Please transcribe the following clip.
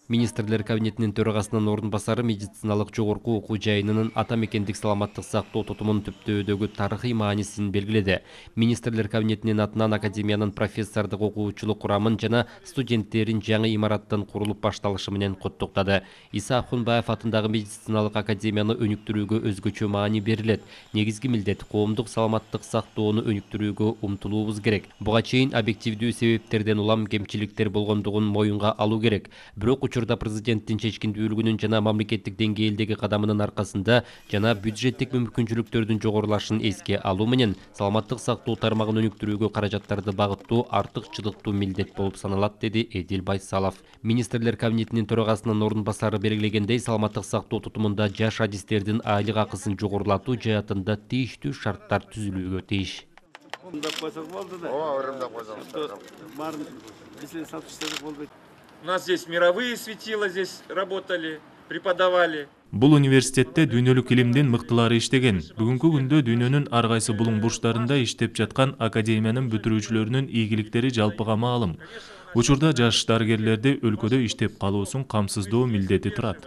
Министрлер кабинетинин төрагасынын орун басары медициналык жогорку окуу жайынын ата мекендик саламаттык сактоо тутумун түптөөдөгү тарыхый маанисин белгиледи. Министрлер кабинетинин атынан академиянын профессордук окуучулук курамын жана студенттерин жаңы имараттын курулуп башталышы менен куттуктады. Иса Акунбаев атындагы медициналык академияны өнүктүрүүгө өзгөчө маани берилет. Негизги милдет коомдук саламаттык сактоону өнүктүрүүгө умтулуубуз керек. Буга чейин объективдүү себептерден улам кемчиликтер болгондугун моюнга алуу керек. Бирок учурда президенттин чечкиндүүлүгүнүн жана мамлекеттик деңгээлдеги кадамынын аркасында жана бюджеттик мүмкүнчүлүктөрдүн жогорулашын эске алуу менен саламаттык сактоо тармагын өнүктүрүүгө каражаттарды багыттоо артыкчылыктуу милдет болуп саналат, деди Эдил Байсалов. Министрлер кабинетинин төрагасынын орун басары белгилегендей, саламаттык сактоо тутумунда жаш адистердин айлык акысын жогорулатуу жаатында тийиштүү шарттар түзүлүүгө тийиш. У нас здесь мировые светила здесь работали, преподавали. Бул университетте дүйнөлүк илимдин мыктылары иштеген. Бүгүнкү күндө дүйнөнүн ар кайсы булуң бурчтарында иштеп жаткан академиянын бүтүрүүчүлөрүнүн ийгиликтери жалпыга маалым. Учурда жаш дарыгерлерди өлкөдө иштеп калуусун камсыздоо милдети турат.